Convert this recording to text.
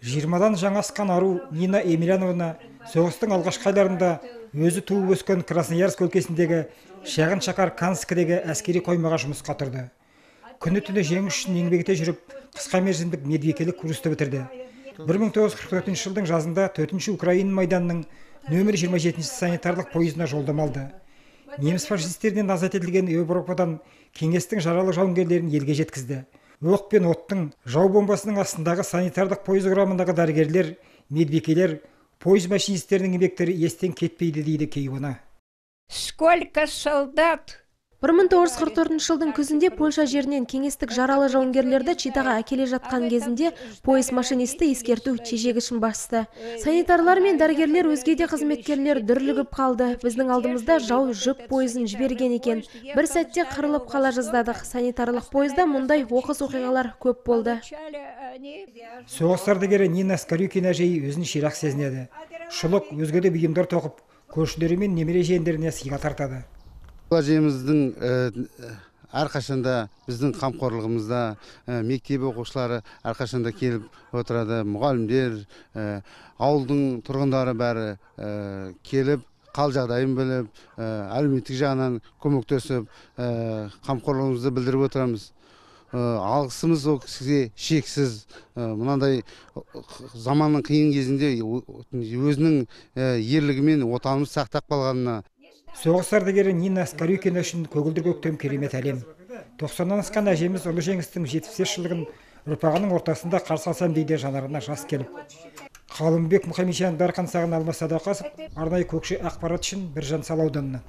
20-дан жаңа асқан ару Нина Емельяновна соғыстың алғашқы айларында өзі туып өскен Красноярск өлкесіндегі шағын шаһар Канскідегі әскери қоймаға жұмысқа тұрды. Күні түні жеңіс үшін еңбек ете жүріп, қысқа мерзімдік медбикелік курсты бітірді. 1944 жылдың жазында 4-ші Украина майданының нөмір 27 санитарлық пойызына жолдама алды. Неміс фашистерінен азат етілген Еуропадан кеңестің жаралы жауынгерлерін елге жеткізді. Оқ пен оттың, жау бомбасының астындағы санитарлық пойыз құрамындағы дәрігерлер, медбикелер, пойыз машинистерінің еңбектері естен кетпейді дейді кейуана. Сколько солдат! 1944 жылдың күзінде Польша жерінен кеңестік жаралы жауынгерлерді Читаға әкеле жатқан кезінде пойыз машинисті ескерту чежегішін басты. Санитарлар мен дәрігерлер, өзге де қызметкерлер дүрлігіп қалды. Біздің алдымызда жау жүк пойызын жіберген екен. Бір сәтте қырылып қала жаздадық. Санитарлық пойызда мұндай оқыс оқиғалар көп болды. Соғыс ардагері Нина Скорюкина әжей өзін ширақ сезінеді. Шұлық, өзге де бұйымдар тоқып, көршілері мен немере жиендеріне сыйға тартады. Әжеміздің әрқашанда біздің қамқорлығымызда, мектеп оқушылары әрқашанда келіп отырады. Мұғалімдер, ауылдың тұрғындары бәрі келіп, қал жағдайын біліп, әлеуметтік жағынан көмектесіп, қамқорлығымызды білдіріп отырамыз. Алғысымыз ол кісіге шексіз. Мынандай заманның қиын кезінде өзінің ерлігімен отанымыз сақтап қалғанына. Соғыс ардагері Нина Скорюкина үшін көгілдір көктем керемет әлем. 90-нан асқан әжеміз ұлы жеңістің 75 жылдығын ұрпағының ортасында қарсы алсам дейді, жанарына жас келіп. Қалымбек Мұхамеджан Дарқан Сағын Алмас Садуақасов, арнайы Көкше ақпарат үшін Біржан Сал ауданынан.